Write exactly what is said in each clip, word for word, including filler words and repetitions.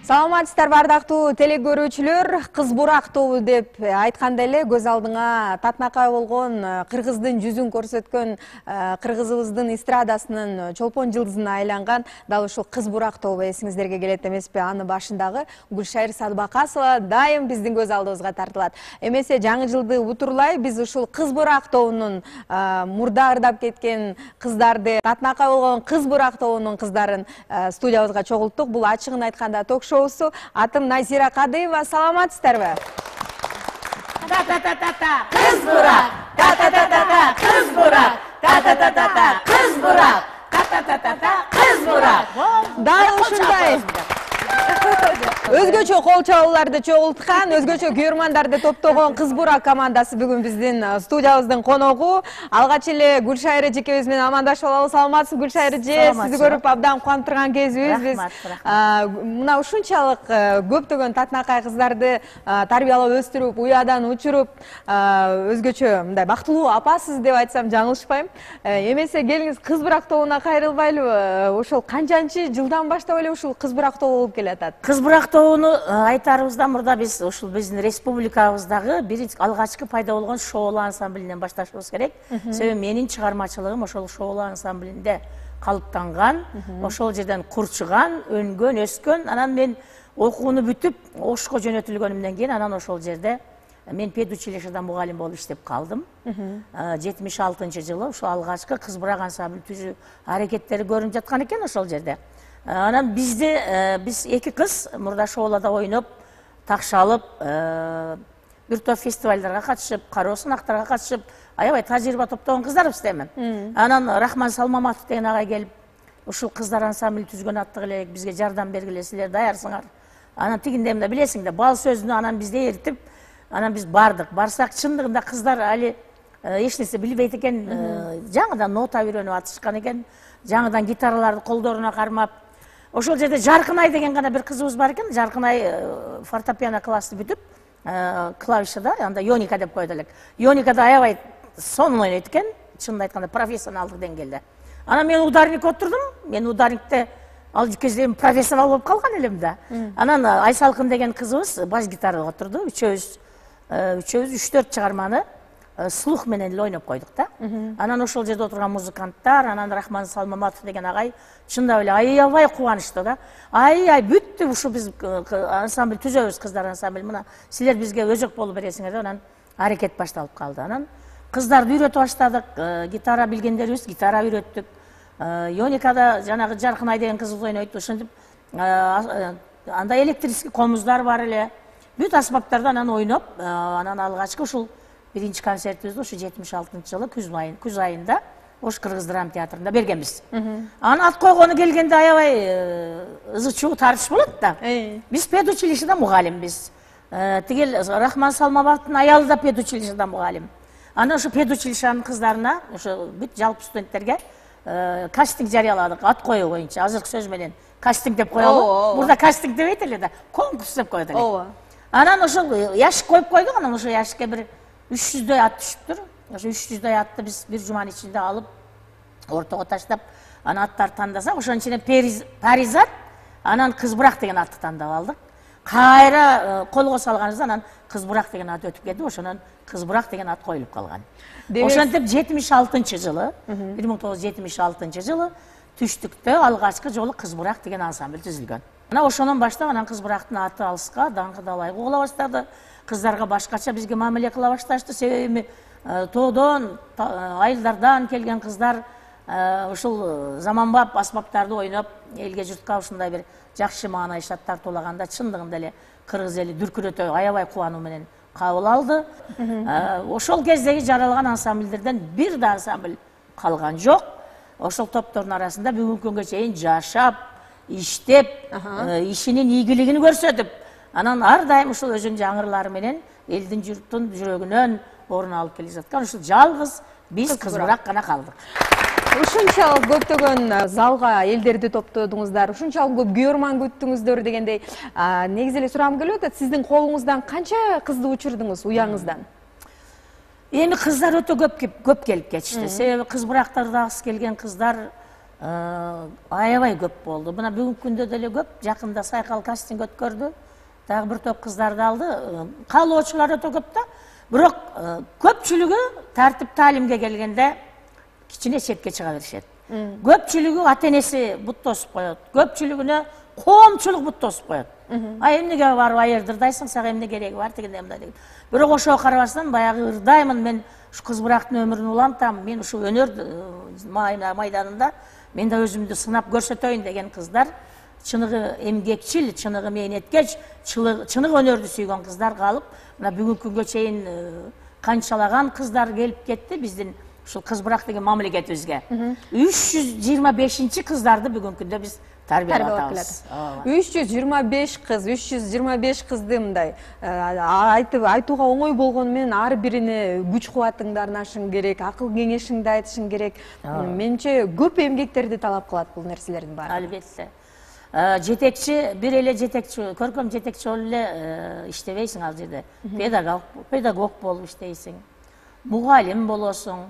Саламатсыздар бардактуу теле көрүүчүлөр, кыз бурак тобу деп айтканда эле көз алдыңа татынакай болгон кыргыздын жүзүн көрсөткөн кыргызыбыздын эстрадасынын чолпон жылдызына айланган дал ушул кыз бурак тобу эсиңиздерге келет эмеспи? Аны башындагы Гүлшайыр Садыбакасова дайым биздин көз алдыбызга тартылат. Эмесе жаңы жылды утурлай биз ушул кыз бурак тобунун мурда ырдап кеткен кыздарды, татынакай болгон кыз бурак тобунун кыздарын студиябызга чогулттук. Бул ачыгын айтканда ток-шоу. Атым Назира Кадыева, саламатсыздарбы? Та-та-та-та-та, кыз бурак! Та-та-та-та-та, кыз бурак! Та-та-та-та-та, кыз бурак! Та-та-та-та-та, кыз бурак! Дал ушундай өзгөчө кол чабууларды чогулткан, өзгөчө көрөрмандарды топтогон кыз бурак командасы бүгүн биздин студиябыздын коногу. Алгач эле Гүлшайыр эжекебиз менен амандашып алалы. Саламатсызбы Гүлшайыр эже? Сизди көрүп абдан кубанып турган кезибиз. Биз мына ушунчалык көптөгөн татынакай кыздарды тарбиялап өстүрүп, уядан учуруп, өзгөчө мындай бактылуу апасыз деп айтсам жаңылышпайм. Эмесе келиңиз кыз бурак тобуна кайрылбайлыбы? Ошол канчанчы жылдан баштап эле ушул кыз бурак тобу болуп келатат? Кыз бурак тобуну айтарыбыздан мурда биз ушул биздин республикабыздагы биринчи алгачкы пайда болгон шоулуу ансамблинен башташыбыз керек. Себеби менин чыгармачылыгым ошол шоулуу ансамблинде калыптанган, ошол жерден курчуган, өнгөн, өскөн. Анан мен окууну бүтүп, Ошко жөнөтүлгөнүмдөн кийин анан ошол жерде мен педучилищеде мугалим болуп иштеп калдым. жетимиш алтынчы жылы ошол алгачкы кыз бурак ансамбль түзүү аракеттери көрүнүп жаткан экен ошол жерде. Анан бизде биз эки кыз мурда шоуларда ойноп, такшалып, бир топ фестивалдарга катышып, кароо сынактарга катышып, аябай тажрыйба топтогон кыздарбыз деймин. Анан Рахман Салмаматов деген агай келип, ушул кыздар ансамбль түзгөн аттык элек, бизге жардам бергиле, силер даярсыңар. Анан тигиндей мында билесиң да, бал сөзүнө анан бизди эритип, анан биз бардык. Барсак чындыгында кыздар али эч нерсе билбейт экен, жаңыдан нота үйрөнүп атышкан экен, жаңыдан гитараларды колдоруна кармап. Ошол жерде Жаркынай деген гана бир кызыбыз бар экен. Жаркынай фортепиано классы бүтүп, клавишада, анда Йоника деп койду элек. Йоникада аябай сонун ойнойт экен, чынын айтканда профессионалдык деңгээлде. Анан мен ударник отурдум. Мен ударникте ал кезде профессионал болуп калган элем да. Анан Айсалкын деген кызыбыз бас гитарага отурду. Үчөөбүз үчөөбүз үч төрт чыгарманы слух менен эле ойноп койдук да. Анан ошол жерде отурган музыканттар, анан Рахман Салмаматов деген агай чындап эле аябай кубанычтуу да. Ай-ай бүттү, ушу биз ансамбль түзөбүз, кыздар ансамбль. Мына силер бизге өзөк болуп бересиңер деп анан аракет башталып калды. Анан кыздарды үйрөтүп баштадык, гитара билгендерибиз гитара үйрөттүк. Йоникада жанагы Жаркынай деген кызыбыз ойнойт, ошентип анда электрический комуздар бар эле. Бүт аспаптарды анан ойноп, анан алгачкы ушул биринчи концертибизди ушу жетимиш алтынчы жылы күз айында Ош Кыргыз драма театрында бергенбиз. Анан ат койгону келгенде аябай ызы-чуу тартыш болот да. Биз педучилищеде мугалимбиз. Тигил Рахман Салмаматовдун аялы да педучилищеде мугалим. Анан ошо педучилищенин кыздарына, ошо бүт жалпы студенттерге кастинг жарыяладык ат коюу боюнча. Азыркы сөз менен кастинг деп коелу. Мурда кастинг дебейт эле да, конкурс деп коет эле. Анан ошол яшик коюп койдук, анан ошо яшикке бир үч жүздөй ат түшүптүр. Ошо үч жүздөй атты биз бир жуманын ичинде алып, ортого таштап, анан аттарды тандасак, ошонун ичинен Паризат, анан Кыз бурак деген атты тандап алдык. Кайра колго салганыбызда анан Кыз бурак деген ат өтүп кетти, ошонун Кыз бурак деген ат коюлуп калган. Ошентип жетимиш алтынчы жылы, бир миң тогуз жүз жетимиш алтынчы жылы түштүктө алгачкы жолу Кыз бурак деген ансамбль түзүлгөн. Анан ошондон баштап анан Кыз бурактын аты алыска, даңкы да ылайык угула баштады. Кыздарга башкача бизге мамиле кыла башташты. Себеби тоодон, айылдардан келген кыздар ушул заманбап аспаптарды ойноп, элге журтка ушундай бир жакшы маанай шаттар туулаганда чындыгында эле кыргыз эли дүркүрөтө аябай кубануу менен кабыл алды. Ошол кездеги жаралган ансамбльдерден бир да ансамбль калган жок. Ошол топтордун арасында бүгүнкү күнгө чейин жашап, иштеп, ишинин ийгилигин көрсөтүп, анан ар дайым ушул өзүнүн жаңырлары менен элдин журттун жүрөгүнөн орун алып келе жаткан ушул жалгыз биз Кыз бурак гана калдык. Ушунчалык көптөгөн залга элдерди топтодуңуздар, ушунчалык көп көрман күттүңүздөр дегендей, негизи эле сурагым келип атат, сиздин колуңуздан канча кызды учурдуңуз уяңыздан? эми кыздар өтө көп көп келип кетишти. Себеби кыз бурактардагысы келген кыздар аябай көп болду. Мына бүгүнкү күндө деле көп. Жакында Сайкал кастинг өткөрдү. Дагы бир топ кыздарды алды. Каалоочулар өтө көп да. Бирок көпчүлүгү тартип таалимге келгенде кичине четке чыга беришет. Көпчүлүгү ата-энеси бут тосуп коет. Көпчүлүгүнө коомчулук бут тосуп коет. А эмнеге барып айырдырдайсың, сага эмне кереги бар дегенде мындай деген. Бирок ошого карабастан баягы ырдаймын, мен ушу кыз бурактын өмүрүн улантам, мен ушу өнөр майданында мен да өзүмдү сынап көрсөтөйүн деген кыздар, чыныгы эмгекчил, чыныгы мээнеткеч, чыныгы өнөрдү сүйгөн кыздар калып, мына бүгүнкү күнгө чейин канчалаган кыздар келип кетти биздин ушул кыз бурак деген мамлекетибизге. үч жүз жыйырма бешинчи кыздарды бүгүнкү күндө биз тарбиялап атабыз. үч жүз жыйырма беш кыз, үч жүз жыйырма беш кызды мындай айтып айтууга оңой болгону менен ар бирине күч кубатыңды арнашың керек, акыл кеңешиңди айтышың керек. Менимче көп эмгектерди талап кылат бул нерселердин баары. Албетте. Жетекчи, бир эле жетекчи, көркөм жетекчи болуп эле иштебейсиң ал жерде. Педагог, педагог болуп иштейсиң. Мугалим болосуң,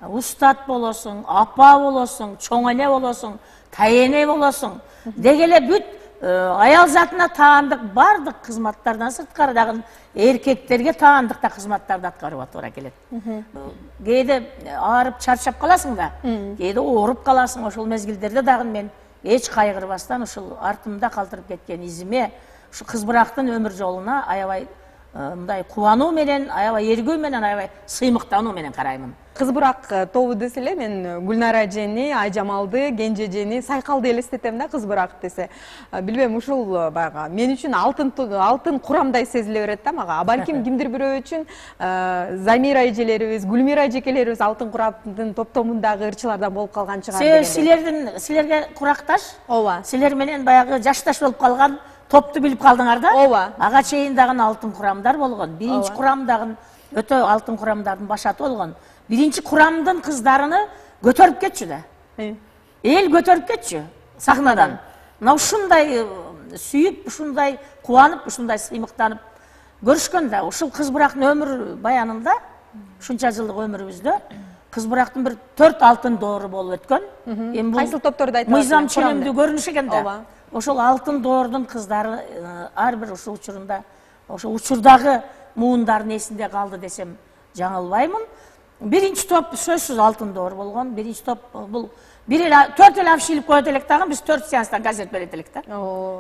устат болосуң, апа болосуң, чоң эне болосуң, тайене болосуң. Деги эле бүт аял затына таандык бардык кызматтардан сырткары дагы эркектерге таандык да кызматтарды аткарууга туура келет. Кээде аарып чарчап каласың да, кээде ооруп каласың. Ошол мезгилдерде дагы мен эч кайгырбастан ушул артымда калтырып кеткен изиме, ушу кыз бурактын өмүр жолуна аябай мындай кубануу менен, аябай эргүү менен, аябай сыймыктануу менен караймын. Кыз бурак тобу десе эле мен Гүлнара эжени, Айжамалды, Кенже эжени, Сайкалды элестетем да кыз бурак десе. Билбейм, ушул баягы мен үчүн алтын алтын курамдай сезиле берет да мага. Балким кимдир бирөө үчүн Замира эжелерибиз, Гүлмира эжекелерибиз алтын курамдын топтомундагы ырчылардан болуп калган чыгар дегенде. Силердин силерге куракташ, ооба. Силер менен баягы жашташ болуп калган топту билип калдыңар да? Ооба. Ага чейин дагы алтын курамдар болгон. Биринчи курам дагы өтө алтын курамдардын башаты болгон. Биринчи курамдын кыздарыны көтөрүп кетчү да. Эл көтөрүп кетчү сахнадан. Мына ушундай сүйүп, ушундай кубанып, ушундай сыймыктанып көрүшкөн да. Ушул кыз бурактын өмүр баянында, ушунча жылдык өмүрүбүздө кыз бурактын бир төрт алтын доору болуп өткөн. Эми бул кайсыл топторду айтабыз? Мыйзам ченемдүү көрүнүш экен да. Ошол алтын доордун кыздары ар бир ушул учурунда, ошол учурдагы муундардын эсинде калды десем жаңылбаймын. Биринчи топ сөзсүз алтын доор болгон. Биринчи топ бул бир эле төрт эле афиш илип коет элек дагы, биз төрт сеанстан газет берет элек да.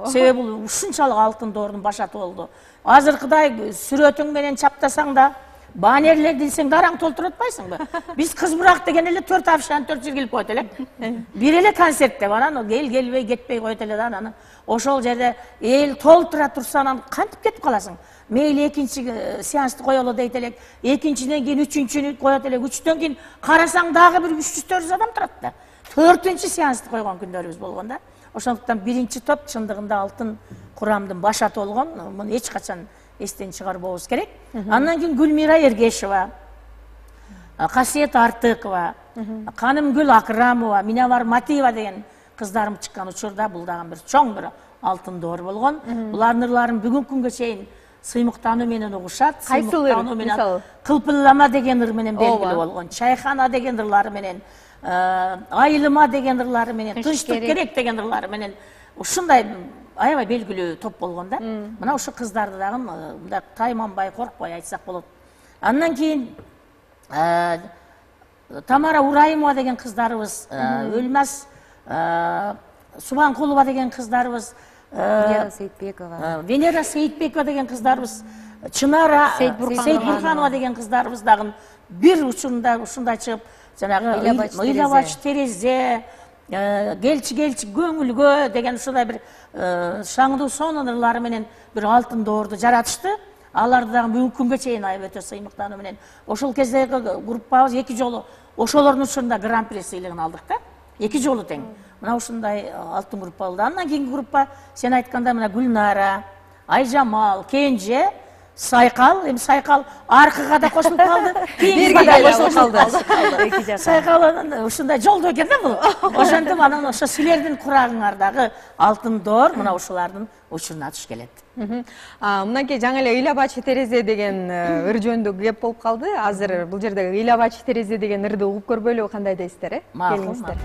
Себеби бул ушунчалык алтын доордун башаты болду. Азыркыдай сүрөтүң менен чаптасаң да, баннерлер дилсең да араң толтуруп атпайсыңбы? Биз кыз бурак деген эле төрт афиштан төрт жерге илип коет элек. Бир эле концерт деп анан эл келбей кетпей коет эле да, анан ошол жерде эл толтура турса анан кантип кетип каласың? Мейли экинчи сеансты коелу дейт элек, экинчиден кийин үчүнчүнү коет элек, үчтөн кийин карасаң дагы бир үч жүз төрт жүз адам турат да. Төртүнчү сеансты койгон күндөрүбүз болгон да. Ошондуктан биринчи топ чындыгында алтын курамдын башаты болгон. Муну эч качан эстен чыгарбообуз керек. Андан кийин Гүлмира Эргешева, Касиет Артыкова, Канымгүл Акрамова, Минавар Матиева деген кыздарым чыккан учурда бул дагы бир чоң бир алтын доор болгон. Булардын ырларын бүгүнкү күнгө чейин сыймыктануу менен угушат. Кайсыл мисалы? Кылпыллама деген ыр менен белгилүү болгон. Чайхана деген ырлары менен, Айылыма деген ырлары менен, Тынчтык керек деген ырлары менен ушундай аябай белгилүү топ болгон да. Мына ушу кыздарды дагы мындай тайманбай, коркпой айтсак болот. Андан кийин Тамара Урайымова деген кыздарыбыз, Өлмас Субанкулова деген кыздарыбыз, Венера Сейитбекова. Венера Сейитбекова деген кыздарыбыз, Чынара Сейитбурханова деген кыздарыбыз дагы бир учурунда ушундай чыгып, жанагы Ыйлабач терезе, келчи келчи көңүлгө деген ушундай бир шаңдуу сонун ырлары менен бир алтын доорду жаратышты. Аларды дагы бүгүнкү күнгө чейин аябай өтө сыймыктануу менен ошол кездеги группабыз эки жолу ошолордун учурунда гран-при сыйлыгын алдык да. Эки жолу тең. Мына ушундай алтын группа болду. Андан кийинки группа сен айткандай мына Гүлнара, Айжамал, Кенже, Сайкал, эми Сайкал аркыга да кошулуп калды, кийинки да кошулуп калды. Сайкал ушундай жолдо экен да бул. Ошентип анан ошо силердин курагыңардагы алтын доор мына ушулардын учуруна туш келет. Мынакей жаңы эле ыйлабачы терезе деген ыр жөнүндө кеп болуп калды. Азыр бул жерде ыйлабачы терезе деген ырды угуп көрбөйлүбү, кандай дейсиздер, э? Келиңиздер.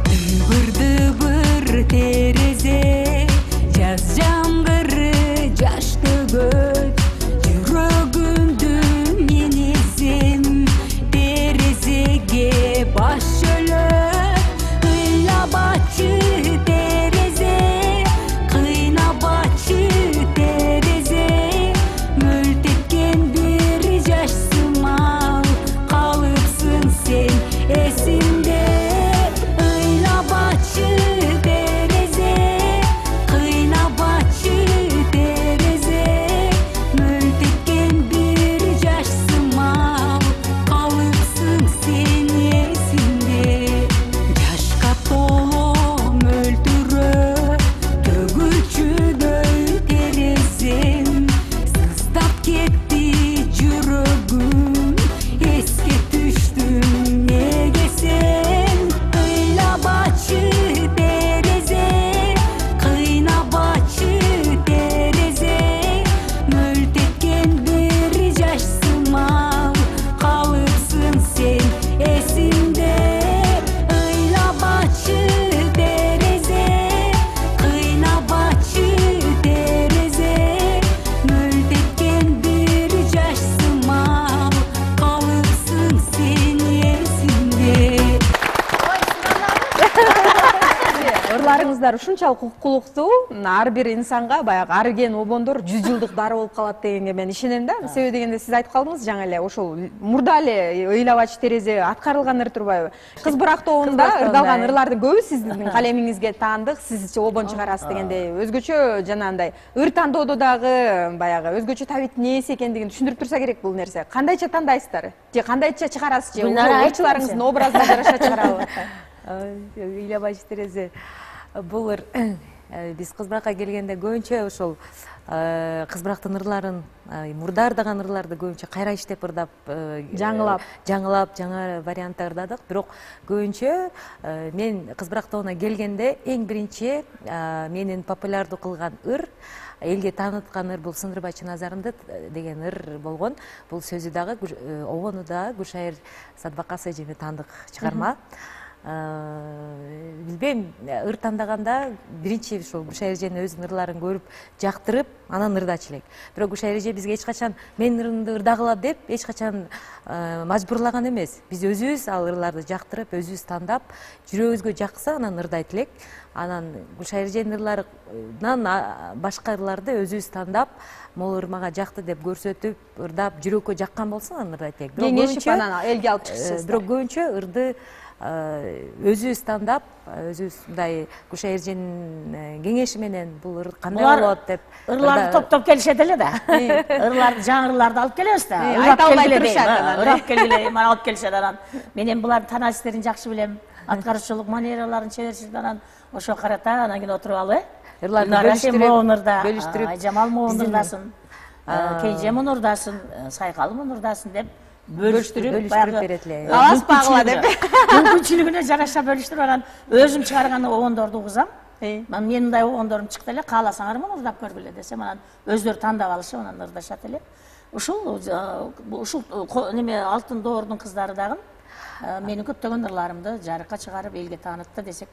Дыбыр-дыбыр терезе, жаз жамгыры, жаш төгөт, жүрөгүмдү мен эзем, терезеге баш шөлөп, ыйлабачы терезе, кыйнабачы терезе, мөлтеткен бир жаш сымал, калыпсың сен эсимде. Ушунчалык укуктуу, ар бир инсанга баягы арыген обондор жүз жылдык дары болуп калат дегенге мен ишенем да. Себеби дегенде сиз айтып калдыңыз жаңы эле, ошол мурда эле ыйлабачы терезе аткарылган ыр турбайбы? Кыз Бурак тобунда ырдалган ырлардын көбү сиздин калемиңизге таандык, сиз обон чыгарасыз дегендей өзгөчө жанагындай ыр тандоодо дагы баягы өзгөчө табиттин ээси экендигин түшүндүрүп турса керек бул нерсе. Кандайча тандайсыздар? Же кандайча чыгарасыз? Же ырчыларыңыздын образына жараша чыгарабы? Ыйлабачы терезе бул ыр биз Кыз Буракка келгенде көбүнчө ошол Кыз Бурактын ырларын, мурда ырдаган ырларды көбүнчө кайра иштеп ырдап, жаңылап, жаңылап, жаңа вариантта ырдадык. Бирок көбүнчө мен Кыз Бурак тобуна келгенде эң биринчи менин популярдуу кылган ыр, элге тааныткан ыр бул Сындырбай Чыназарымды деген ыр болгон. Бул сөзү дагы, обону да Гүлшайыр Садбакас эжеме таандык чыгарма. Билбейм, ыр тандаганда биринчи ушул Гүлшайыр эженин өзүнүн ырларын көрүп, жактырып, анан ырдачу элек. Бирок Гүлшайыр эже бизге эч качан менин ырымды ырдагыла деп эч качан мажбурлаган эмес. Биз өзүбүз ал ырларды жактырып, өзүбүз тандап, жүрөгүбүзгө жакса анан ырдайт элек. Анан Гүлшайыр эженин ырларынан башка ырларды өзүбүз тандап, могу ыр мага жакты деп көрсөтүп, ырдап, жүрөккө жаккан болсо анан ырдайт элек. Кеңешип анан элге алып чыксыз. Бирок көбүнчө ырды өзүбүз тандап, өзүбүз мындай Гүлшайыр эженин кеңеши менен бул ыр кандай болот деп ырларды топтоп келишет эле да. Ырларды, жаңы ырларды алып келебиз да. Айта албай турушат анан. Ырап келгиле, мана алып келишет анан. Мен эми булардын таанастерин жакшы билем. Аткаруучулук манераларын, чеберчилигин анан ошо карата анан кийин отуруп алып, э. Ырларды бөлүштүрүп, Айжамал моун ырдасын, Кейже мун ырдасын, Сайкал мун ырдасын деп бөлүштүрүп берет эле. Аласпагыла деп. Мүмкүнчүлүгүнө жараша бөлүштүрүп анан өзүм чыгарган обондорду угузам. Мен мындай обондорум чыкты эле, кааласаңар муну ырдап көргүлө десем, анан өздөрү тандап алышып, анан ырдашат эле. Ушул ушул неме Алтын доордун кыздары дагы менин көптөгөн ырларымды жарыкка чыгарып элге таанытты десек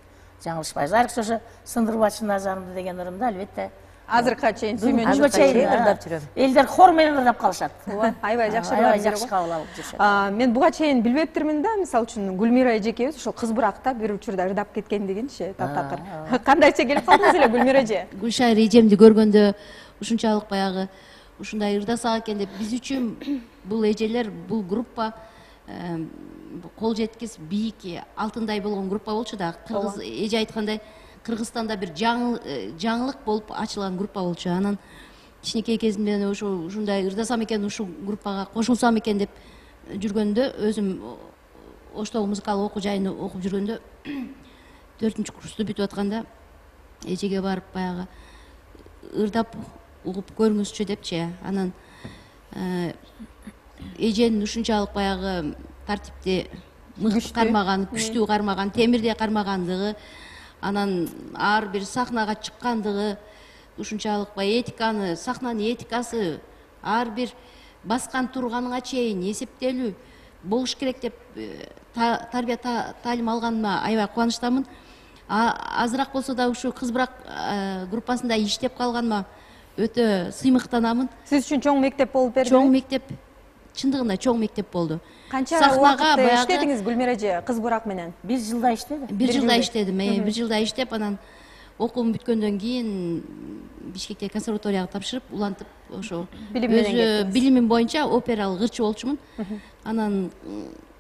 жаңылышпайбыз. Айрыкча ошо Сындырбай Чыназарымды деген ырымды албетте азыркыга чейин сүймөнчү ырдап жүрөм. Элдер хор менен ырдап калышат. Аябай жакшы аябай жакшы кабыл алып жүрүшөт. Мен буга чейин билбептирмин да, мисалы үчүн Гүлмира эжекебиз ошол Кыз Буракта бир учурда ырдап кеткендигинчи, таптакыр. Кандайча келип калдыңыз эле Гүлмира эже? Гүлшайыр эжемди көргөндө ушунчалык баягы ушундай ырдасак экен деп, биз үчүн бул эжелер, бул группа кол жеткис бийик алтындай болгон группа болчу да. Кыргыз эже айткандай Кыргызстанда бир жаңылык болуп ачылган группа болчу. Анан кичинекей кезимден ошо ушундай ырдасам экен, ушул группага кошулсам экен деп жүргөндө, өзүм Оштогу музыкалык окуу жайын окуп жүргөндө төртүнчү курсту бүтүп атканда эжеге барып баягы ырдап угуп көрүңүзчү депчи. Анан эженин ушунчалык баягы тартипти мыкты кармаган, күчтүү кармаган, темирдей кармагандыгы, анан ар бир сахнага чыккандыгы, ушунчалык баягы этиканы, сахнанын этикасы ар бир баскан турганыңа чейин эсептелүү болуш керек деп тарбия таалим алганыма аябай кубанычтамын. Азыраак болсо да ушу кыз бурак группасында иштеп калганыма өтө сыймыктанамын. Сиз үчүн чоң мектеп болуп берди? Чоң мектеп, чындыгында чоң мектеп болду. Канча убакыт иштедиңиз Гүлмира эже кыз бурак менен? Бир жылда иштедим. Бир жылда иштедим. Бир жылда иштеп, анан окуум бүткөндөн кийин Бишкекте консерваторияга тапшырып, улантып ошо өзү билимим боюнча опералык ырчы болчумун. Анан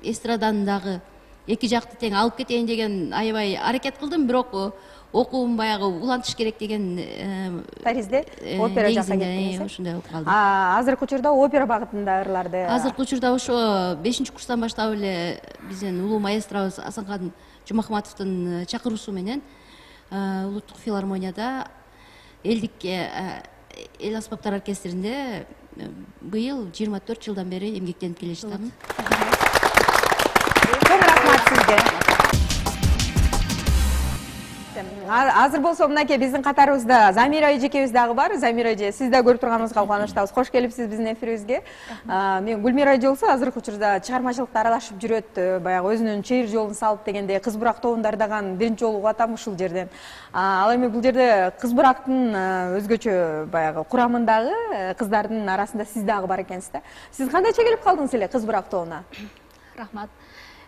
эстраданын дагы эки жакты тең алып кетейин деген аябай аракет кылдым, бирок окуум баягы улантыш керек деген таризде опера жакка кеттиңиз. Ошондой болуп калды. Азыркы учурда опера багытында ырларды. Азыркы учурда ошо бешинчи курстан баштап эле биздин улуу маэстробуз Асанкан Жумахматовдун чакыруусу менен улуттук филармонияда элдик эл аспаптар оркестринде быйыл жыйырма төрт жылдан бери эмгектенип келе жатамын. Чоң рахмат сизге. Азыр болсо мынакей биздин катарыбызда Замира эжекебиз дагы бар. Замира эже, сиз да көрүп турганыбызга кубанычтабыз. Кош келипсиз биздин эфирибизге. Мен Гүлмира эже болсо азыркы учурда чыгармачылыкта аралашып жүрөт, баягы өзүнүн чейир жолун салып дегендей кыз бурак тобунда ырдаган биринчи жолу угуп атам ушул жерден. Ал эми бул жерде кыз бурактын өзгөчө баягы курамындагы кыздардын арасында сиз дагы бар экенсиз да. Сиз кандайча келип калдыңыз эле кыз бурак тобуна? Рахмат.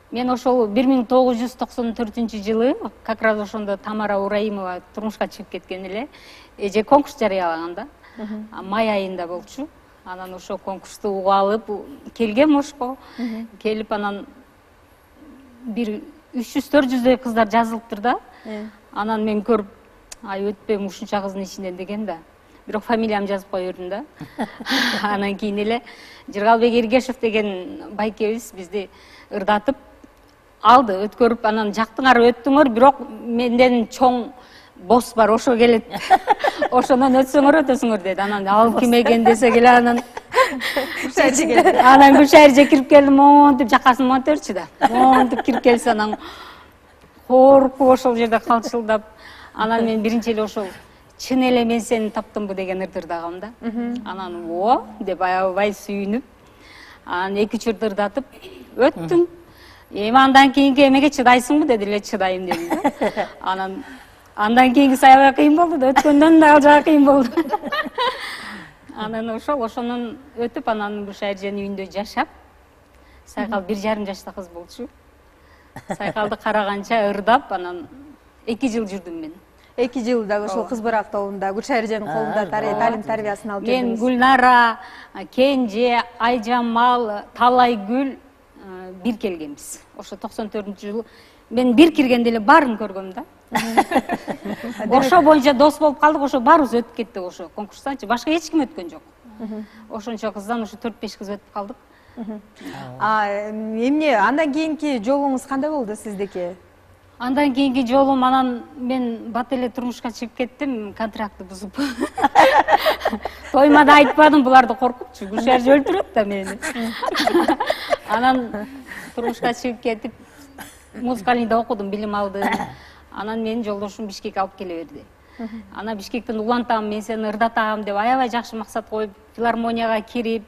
Мен ошол бир миң тогуз жүз токсон төртүнчү жылы как раз ошондо Тамара Ураимова турмушка чыгып кеткен эле. Эже конкурс жарыялаганда, май айында болчу. Анан ошо конкурсту угуп алып келгем Ошко. Келип анан бир үч жүз төрт жүздөй кыздар жазылыптыр да. Анан мен көрүп, ай өтпөйм ушунча кыздын ичинен деген да. Бирок фамилиямды жазып кое бердим да. Анан кийин эле Жыргалбек Эргешев деген байкебиз бизди ырдатып алды, өткөрүп, анан жактыңар өттүңөр, бирок менден чоң босс бар, ошо келет. Ошондон өтсөңөр өтөсүңөр деди. Анан ал ким экен десе келе анан анан Гүлшайырже кирип келдим, монтип жакасын монтерчи да. Монтип кирип келсе анан коркуп ошол жерде калчылдап, анан мен биринчи эле ошол чын эле мен сени таптымбы деген ырды ырдагам да. Анан о деп аябай сүйүнүп, анан эки үч ырды ырдатып өттүм. Эми андан кийинки эмеге чыдайсыңбы деди эле, чыдайм дедим да. Анан андан кийинкиси аябай кыйын болду да, өткөндөн да ал жагы кыйын болду. Анан ошол ошонун өтүп, анан Гүлшайырженин үйүндө жашап, Сайкал бир жарым жашта кыз болчу. Сайкалды караганча ырдап, анан эки жыл жүрдүм мен. эки жыл дагы ошол кыз бурак тобунда Гүлшайырженин колунда талим тарбиясын алып жүрдүңүз. Мен Гүлнара, Кенже, Айжамал, Талайгүл бир келгенбиз. Ошо токсон төртүнчү жылы мен бир киргенде эле баарын көргөм да. Ошо боюнча дос болуп калдык, ошо баарыбыз өтүп кеттик ошо конкурстанчы. Башка эч ким өткөн жок. Ошончо кыздан ошо төрт беш кыз өтүп калдык. А эмне андан кийинки жолуңуз кандай болду сиздики? Андан кийинки жолум анан мен бат эле турмушка чыгып кеттим, контрактты бузуп. Тоймада айтпадым, буларды коркупчу. Гүлшайыр өлтүрөт да мени. Анан турмушка чыгып кетип, музыкалыйда окудум, билим алдым. Анан менин жолдошум Бишкекке алып келе берди. Анан Бишкектен улантам, мен сени ырдатам деп аябай жакшы максат коюп, филармонияга кирип,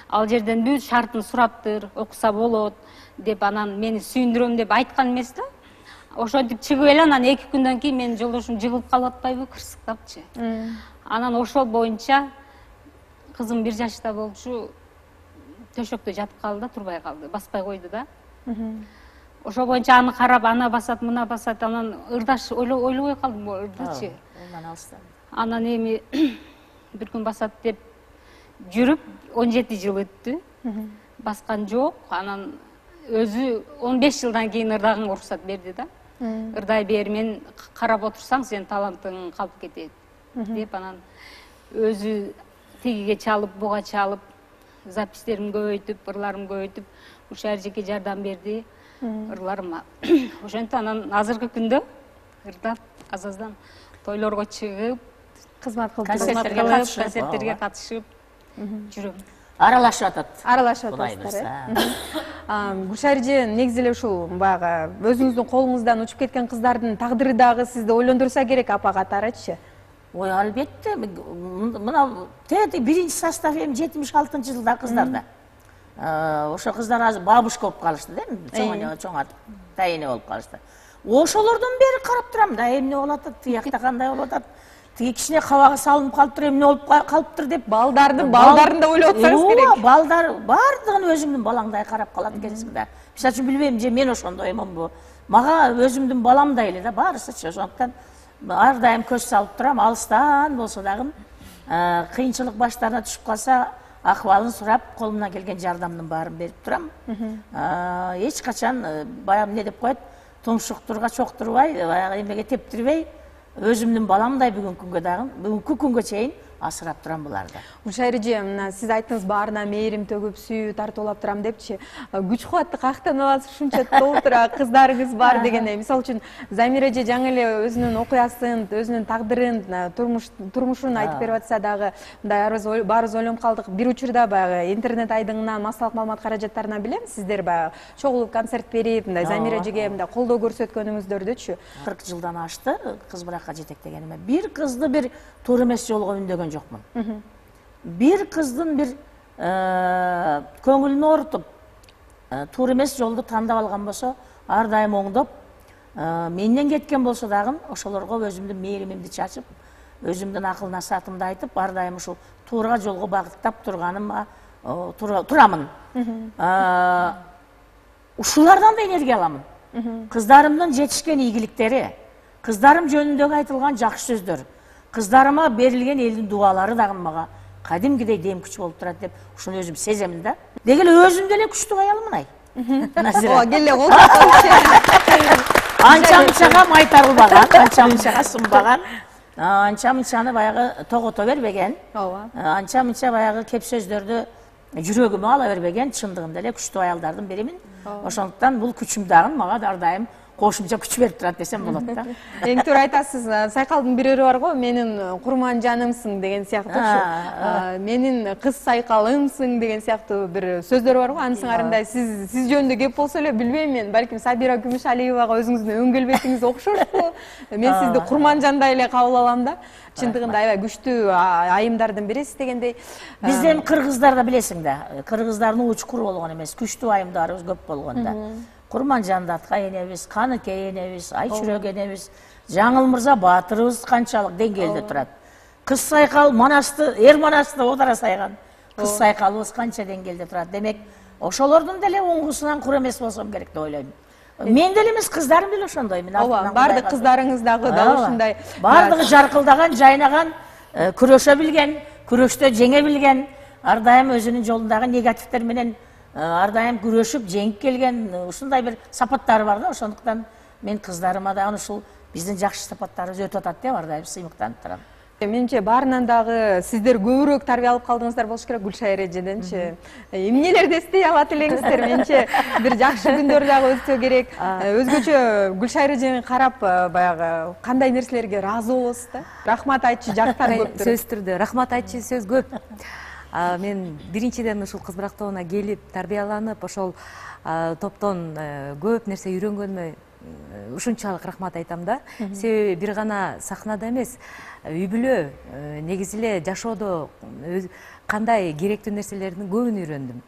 ал жерден бүт шартын сураптыр, окуса болот деп, анан мени сүйүндүрөм деп айткан эмес да. Ошентип чыгып эле анан эки күндөн кийин менин жолдошум жыгылып калып атпайбы, кырсыктапчы. Анан ошол боюнча кызым бир жашта болчу, төшөктө жатып калды да, турбай калды, баспай койду да. Ошол боюнча аны карап, ана басат, мына басат, анан ырдаш ойлобой калдым, ырдачы. Анан эми бир күн басат деп жүрүп он жети жыл өттү. Баскан жок. Анан өзү он беш жылдан кийин ырдаганга уруксат берди да. Ырдай бер, мен карап отурсаң сенин талантың калып кетет деп, анан өзү тигиге чалып, буга чалып, запистеримди көбөйтүп, ырларымды көбөйтүп, Гүлшайыр жеке жардам берди ырларыма. Ошентип анан азыркы күндө ырдап, азаздан тойлорго чыгып, кызмат кылып, концерттерге катышып жүрөм. Аралашып атат. Аралашып атасыздар. Гүлшайыр негизи эле ушул баягы өзүңүздүн колуңуздан учуп кеткен кыздардын тагдыры дагы сизди ойлондурса керек апа катарычы. ой албетте мына тети биринчи состав эми жетимиш алтынчы жылда кыздарда ошо кыздар азыр бабушка болуп калышты да, чоң чоңатып тайене болуп калышты. Ошолордон бери карап турам да, эмне болуп атат, тиякта кандай болуп атат, тиги кичине кабагы салынып калыптыр, эмне болуп калыптыр деп балдардын балдарын да ойлоп атсаңыз керек. Балдар бардыгын өзүмдүн балаңдай карап калат экенсиң да. Мисалы үчүн билбейм, же мен ошондой эмонбу. Мага өзүмдүн баламдай эле да баарысычы. Ошондуктан ар дайым көз салып турам, алыстан болсо дагы кыйынчылык баштарына түшүп калса, акыбалын сурап, колумдан келген жардамдын баарын берип турам. Эч качан баягы эмне деп коет, тумшуктурга чоктурбай, баягы эмеге тептирбей, өзүмдүн баламдай бүгүнкү күнгө дагы, бүгүнкү күнгө чейин асырап турам буларды. Гүлшайыр эже, мына сиз айттыңыз баарына мээрим төгүп, сүйүү тартуулап турам депчи. Күч кубатты каяктан аласыз, ушунча толтура кыздарыңыз бар дегендей. Мисалы үчүн Замира эже жаңы эле өзүнүн окуясын, өзүнүн тагдырын, турмуш турмушун айтып берип атса дагы, мындай баарыбыз ойлонуп калдык. Бир учурда баягы интернет айдыңынан массалык маалымат каражаттарынан билем, сиздер баягы чогулуп концерт берип, мындай Замира эжеге мындай колдоо көрсөткөнүңүздөрдүчү. кырк жылдан ашты кыз буракка жетектегениме. Бир кызды бир туура эмес жолго үндөгөн жокмун. Бир кыздын бир көңүлүн оорутуп, туура эмес жолду тандап алган болсо, ар дайым оңдоп, менден кеткен болсо дагы ошолорго өзүмдүн мээримимди чачып, өзүмдүн акыл насаатымды айтып, ар дайым ушул туура жолго багыттап турганыма турамын. Ушулардан да энергия аламын. Кыздарымдын жетишкен ийгиликтери, кыздарым жөнүндөгү айтылган жакшы сөздөр, кыздарыма берилген элдин дуалары дагы мага кадимгидей дем күч болуп турат деп ушуну өзүм сеземин да. Дегеле өзүм деле күчтүү аялмын ай. Ооба, келе колдоо. Анча-мынчага майтарылбаган, анча-мынчага сынбаган, анча-мынчаны баягы тогото бербеген, анча-мынча баягы кеп сөздөрдү жүрөгүмө ала бербеген, чындыгында эле күчтүү аялдардын биримин. Ошондуктан бул күчүм дагы мага ар дайым кошумча күч берип турат десем болот да. Эң туура айтасыз. Сайкалдын бир өрү бар го, менин курман жанымсың деген сыяктуу. Менин кыз сайкалымсың деген сыяктуу бир сөздөр бар го. Анын сыңарындай сиз сиз жөнүндө кеп болсо эле билбейм мен, балким Сабира Күмүшалиевага өзүңүздүн өң келбетиңиз окшошпу. Мен сизди курман жандай эле кабыл алам да. Чындыгында аябай күчтүү айымдардын бирисиз дегендей. Бизден кыргыздарда билесиң да, кыргыздардын учкуру болгон эмес, күчтүү айымдарыбыз көп болгон да. Курман Жандатка энебиз, Каныкей энебиз, Айчүрөк энебиз, Жаңыл Мырза Баатырыбыз канчалык деңгээлде турат. Кыз сайкал Манасты, эр Манасты одара сайган. Кыз сайкалыбыз канча деңгээлде турат. Демек, ошолордун деле оңгусунан кур эмес болсом керек деп ойлойм. Мен деле эмес, кыздарым деле ошондой. Ооба, бардык кыздарыңыз дагы да ушундай. Бардыгы жаркылдаган, жайнаган, күрөшө билген, күрөштө жеңе билген, ар дайым өзүнүн жолундагы негативтер менен ар дайым күрөшүп жеңип келген ушундай бир сапаттары бар да. Ошондуктан мен кыздарыма да ушул биздин жакшы сапаттарыбыз өтүп атат деп ар дайым сыймыктанып турам. Менимче баарынан дагы сиздер көбүрөөк тарбия алып калдыңыздар болуш керек Гүлшайыр эжеденчи. Эмнелерди эстей алат элеңиздер? Менимче бир жакшы күндөр дагы өтсө керек. Өзгөчө Гүлшайыр эжени карап баягы кандай нерселерге ыраазы болосуз да? Рахмат айтчу жактар көптүр. Сөзсүз түрдө рахмат айтчу сөз көп. Мен биринчиден ушул кыз бурак тобуна келип, тарбияланып, ошол топтон көп нерсе үйрөнгөнүмө ушунчалык рахмат айтам да. Себеби бир гана сахнада эмес, үй бүлө, негизи эле жашоодо кандай керектүү нерселердин көбүн үйрөндүм.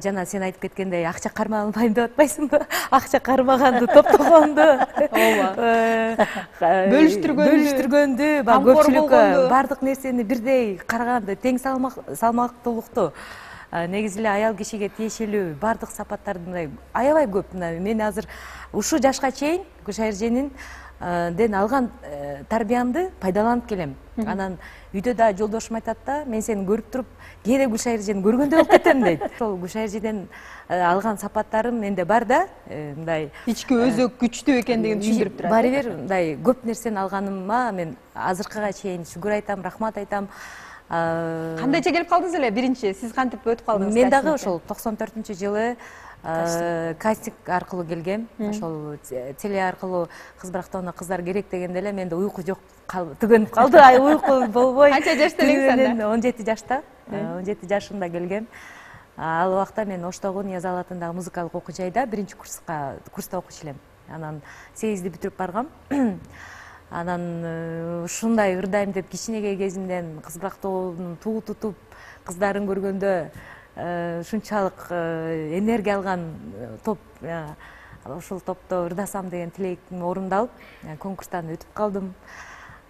Жана сен айтып кеткендей, акча кармалбайм деп атпайсыңбы? Акча кармаганды, топтогонду, бөлүштүргөндү, көпчүлүккө бардык нерсени бирдей караганды, тең салмактуулукту, негизи эле аял кишиге тиешелүү бардык сапаттарды аябай көп. Мен азыр ушул жашка чейин Гүлшайыр эженин ден алган тарбиямды пайдаланып келем. Анан үйдө да жолдошум айтат да, мен сени көрүп туруп, кээде Гүлшайыр эжени көргөндөй болуп кетем дейт. Ошол Гүлшайыр эжеден алган сапаттарым менде бар да, мындай ички өзөк күчтүү экендигин түшүндүрүп турат. Баары бир мындай көп нерсени алганыма мен азыркыга чейин шүгүр айтам, рахмат айтам. Кандайча келип калдыңыз эле биринчи? Сиз кантип өтүп калдыңыз? Мен дагы ошол токсон төртүнчү жылы кастинг аркылуу келгем. Ошол теле аркылуу кыз бурак тобуна кыздар керек дегенде эле менде уйку жок, түгөнүп калды, ай уйку болбой. Канча жашта элеңиз анда? он жети жашта. он жети жашында келгем. Ал убакта мен Оштогу Ниязалы атындагы музыкалык окуу жайда биринчи курска курста окуучу элем. Анан сегизди бүтүрүп баргам. Анан ушундай ырдайм деп кичинекей кезимден кызбырактоонун туу тутуп кыздарын көргөндө ушунчалык энергия алган топ, ошол топто ырдасам деген тилегим орундалып, конкурстан өтүп калдым.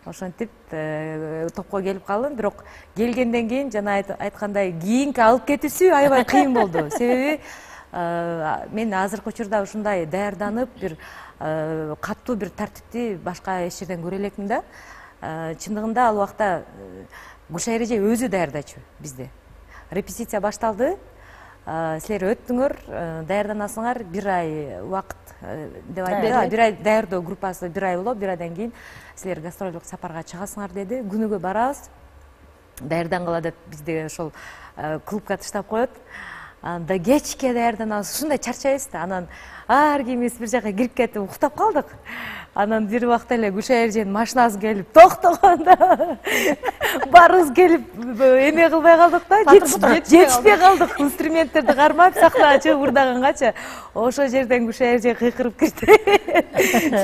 Ошентип топко келип калдым, бирок келгенден кийин жана айткандай кийинки алып кетүүсү аябай кыйын болду. Себеби мен азыркы учурда ушундай даярданып, бир катуу бир тартипти башка эч жерден көрө элекмин да. Чындыгында ал убакта Гүлшара эреже өзү даярдачу бизде. Репетиция башталды. Силер өттүңөр, даярданасыңар, бир ай убакыт деп айтты. Бир ай даярдоо группасы бир ай болот, бир айдан кийин силер гастролдук сапарга чыгасыңар деди. Күнүгө барабыз. Даярдангыла деп бизди ошол клубка таштап коет. Анда кечке даярданабыз, ушундай чарчайбыз да. Анан ар кимибиз бир жака кирип кетип уктап калдык. Анан бир убакта эле Гүлшара эженин машинасы келип токтогондо баарыбыз келип эме кылбай калдык да, жетишпей калдык. Инструменттерди кармап сахнага чыгып ырдагангача ошол жерден Гүлшара эже кыйкырып кирди.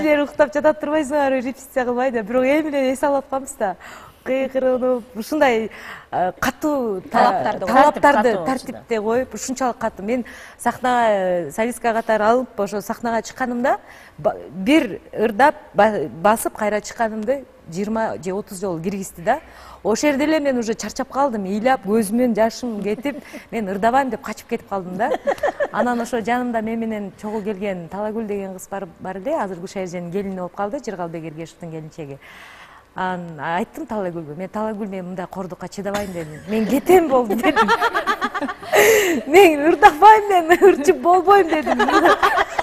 Силер уктап жатат турбайсыңарбы, репетиция кылбай деп. Бирок эми эле эс алып атканбыз да. Кыйкырынып, ушундай катуу талаптарды тартипте коюп, ушунчалык катуу. Мен сахнага, солистка катары алып, ошо сахнага чыкканымда бир ырдап басып кайра чыкканымды жыйырма же отуз жолу киргизди да. Ошол жерде эле мен уже чарчап калдым, ыйлап, көзүмөн жашым кетип, мен ырдабайм деп качып кетип калдым да. Анан ошо жанымда мен менен чогуу келген Талагүл деген кыз бар эле, азыр Гүлшара эженин келини болуп калды, Жыргалбек Эргешевдин келинчеги. Ан айттым Талагүлгө, мен Талагүл мен мындай кордукка чыдабайм дедим. Мен кетем болду дедим. Мен ырдабайм, мен ырчып болбойм дедим.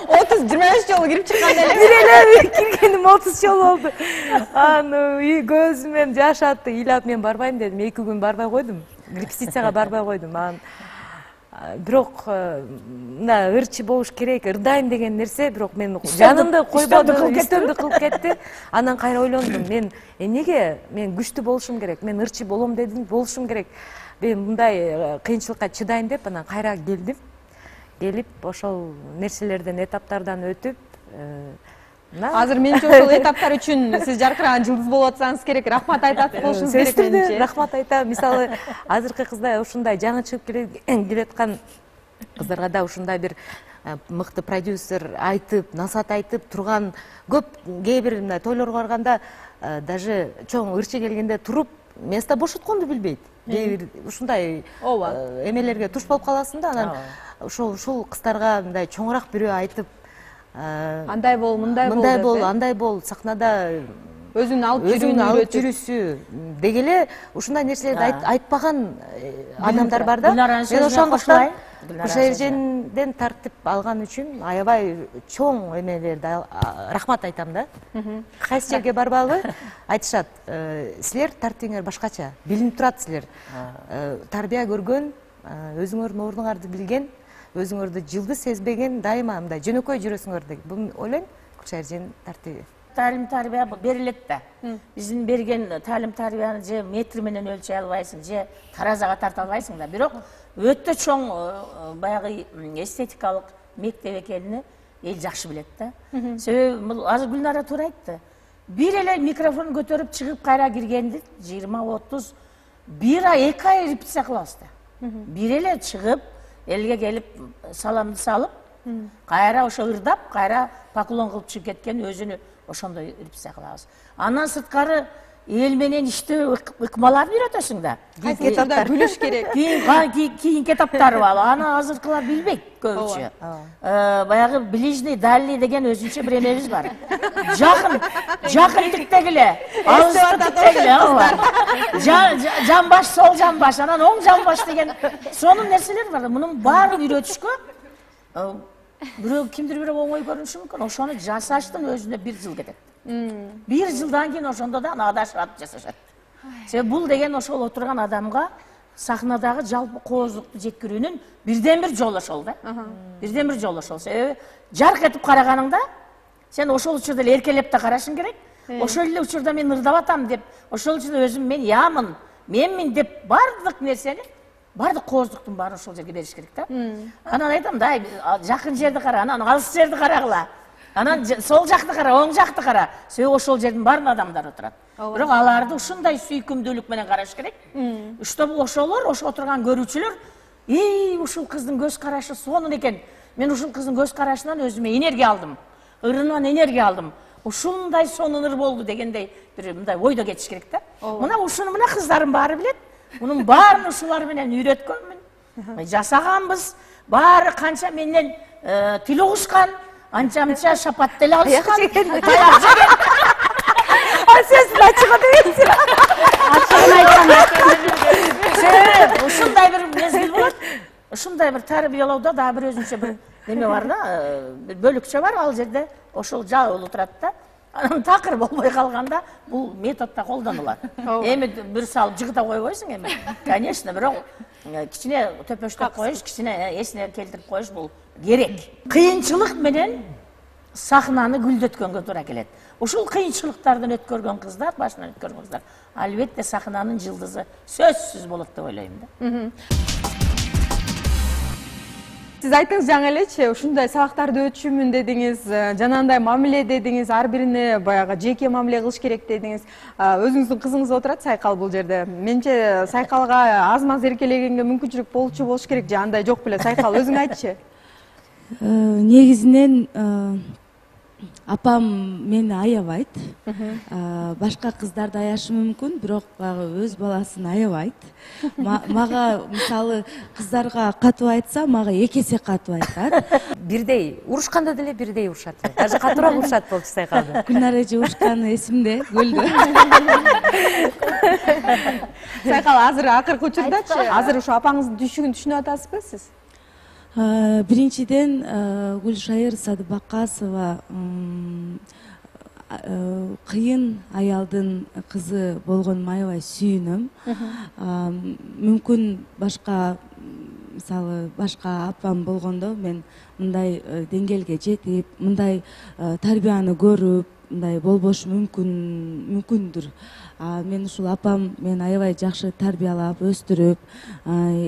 отуз жыйырма беш жолу кирип чыкканда эле. Бир эле киргеним отуз жол болду. Аны көзүмөн жаш атты, ыйлап мен барбайм дедим. эки күн барбай койдум. Репетицияга барбай койдум. Анан бирок мына ырчы болуш керек, ырдайм деген нерсе, бирок мен жанымды койбоду, үстөмдү кылып кетти. Анан кайра ойлондум, мен эмнеге мен күчтүү болушум керек, мен ырчы болом дедим, болушум керек. Мен мындай кыйынчылыкка чыдайм деп, анан кайра келдим. Келип, ошол нерселерден, этаптардан өтүп, азыр менимче ошол этаптар үчүн сиз жаркыраган жылдыз болуп атсаңыз керек, рахмат айтат болушуңуз керек менимче. Рахмат айтам. Мисалы, азыркы кыздар ушундай жаңы чыгып келаткан кыздарга да ушундай бир мыкты продюсер айтып, насаат айтып турган көп, кээ бир мындай тойлорго барганда даже чоң ырчы келгенде туруп место бошотконду билбейт. Кээ бир ушундай эмелерге туш болуп каласың да, анан ошол ушул кыздарга мындай чоңураак бирөө айтып, андай бол, мындай бол, мындай бол, андай бол, сахнада өзүн алып жүрүүнү алып жүрүүсү деги эле ушундай нерселерди айтпаган адамдар бар да. Мен ошондуктан Гүлшара эжеден тартип алган үчүн аябай чоң эмелерди рахмат айтам да. Кайсы жерге барбагы айтышат, силер тартибиңер башкача, билинип турат силер. Тарбия көргөн, өзүңөрдүн ордуңарды билген, өзүңөрдү жылды сезбеген, дайыма мындай жөнөкөй жүрөсүңөр деп. Бул ойлойм Гүлшара эженин тартиби. Талим тарбия берилет да. Биздин берген талим тарбияны же метр менен өлчөй албайсың, же таразага тарта албайсың да. Бирок өтө чоң баягы эстетикалык мектеп экенин эл жакшы билет да. Себеби бул азыр Гүлнара туура айтты. Бир эле микрофон көтөрүп чыгып кайра киргенди жыйырма отуз бир ай, эки ай репетиция кылабыз да. Бир эле чыгып, элге келип саламды салып, кайра ошо ырдап, кайра поклон кылып чыгып кеткен өзүнү ошондой репетиция кылабыз. Андан сырткары эл менен иштөө ыкмаларын үйрөтөсүң да. Кийинки күлүш керек. Кийинки этаптары бар. Аны азыркылар билбейт көбүнчө. Баягы ближний, дальний деген өзүнчө бир эмебиз бар. Жакын, жакындыктагы, алыстыктагы. Жан баш, сол жан баш, анан оң жан баш деген сонун нерселер бар. Мунун баарын үйрөтүшкө бирөө кимдир бирөө оңой көрүнүшү мүмкүн. Ошону жасаштын өзүнө бир жыл кетет. Бир жылдан кийин ошондо да адашып жасашат. Себеби бул деген ошол отурган адамга сахнадагы жалпы кооздукту жеткирүүнүн бирден бир жолу ошол да. Бирден бир жолу ошол. Себеби жарк этип караганыңда сен ошол учурда эле эркелеп да карашың керек. Ошол эле учурда мен ырдап атам деп, ошол учурда өзүм мен ямын, менмин деп бардык нерсени, бардык кооздуктун баарын ошол жерге бериш керек да. Анан айтам да, жакын жерди кара, анан алыс жерди карагыла. Анан сол жакты кара, оң жакты кара. Сөй ошол жердин баарын адамдар отурат. Бирок аларды ушундай сүйкүмдүүлүк менен караш керек. Чтобы ошолор, ошо отурган көрүүчүлөр, "Эй, ушул кыздын көз карашы сонун экен. Мен ушул кыздын көз карашынан өзүмө энергия алдым. Ырынан энергия алдым. Ушундай сонун ыр болду" дегендей бир мындай ойдо кетиш керек да. Мына ушуну мына кыздарым баары билет. Мунун баарын ушулар менен үйрөткөнмүн. Жасаганбыз. Баары канча менден тил угушкан, анча-мынча шапат деле алышкан. Сөзүн ачык дебейсиз. Ачыгын айтканда Ушундай бир мезгил болот. Ушундай бир тарбиялоодо да бир өзүнчө бир неме бар да, бир бөлүкчө бар, ал жерде ошол жабылып турат да. Анан такыр болбой калганда бул метод да колдонулат. Эми бир салып жыгыта койбойсуң эми. Конечно, бирок кичине төпөштөп коюш, кичине эсине келтирип коюш бул керек. Кыйынчылык менен сахнаны гүлдөткөнгө туура келет. Ушул кыйынчылыктардан өткөргөн кыздар, башынан өткөргөн кыздар албетте сахнанын жылдызы сөзсүз болот деп ойлойм да. Сиз айттыңыз жаңы элечи, ушундай сабактарды өтүшүмүн дедиңиз, жанагындай мамиле дедиңиз, ар бирине баягы жеке мамиле кылыш керек дедиңиз. Өзүңүздүн кызыңыз отурат Сайкал бул жерде. Менимче Сайкалга аз-маз эркелегенге мүмкүнчүлүк болчу болуш керек же андай жок беле? Сайкал өзүң айтчы. Негизинен апам мени аябайт. Башка кыздарды аяшы мүмкүн, бирок баягы өз баласын аябайт. Мага мисалы кыздарга катуу айтса, мага эки эсе катуу айтат. Бирдей урушканда деле бирдей урушат. Даже катуураак урушат болчу Сайкалды. Күнар эже урушканы эсимде, көлдө. Сайкал азыр акыркы учурдачы, азыр ушу апаңыздын түшүгүн түшүнүп атасызбы сиз? Биринчиден Гүлшайыр Садыбакасова кыйын аялдын кызы болгонума аябай сүйүнөм. Мүмкүн башка мисалы башка апам болгондо мен мындай деңгээлге жетип, мындай тарбияны көрүп, мындай болбошу мүмкүн мүмкүндүр. Мен ушул апам мени аябай жакшы тарбиялап, өстүрүп,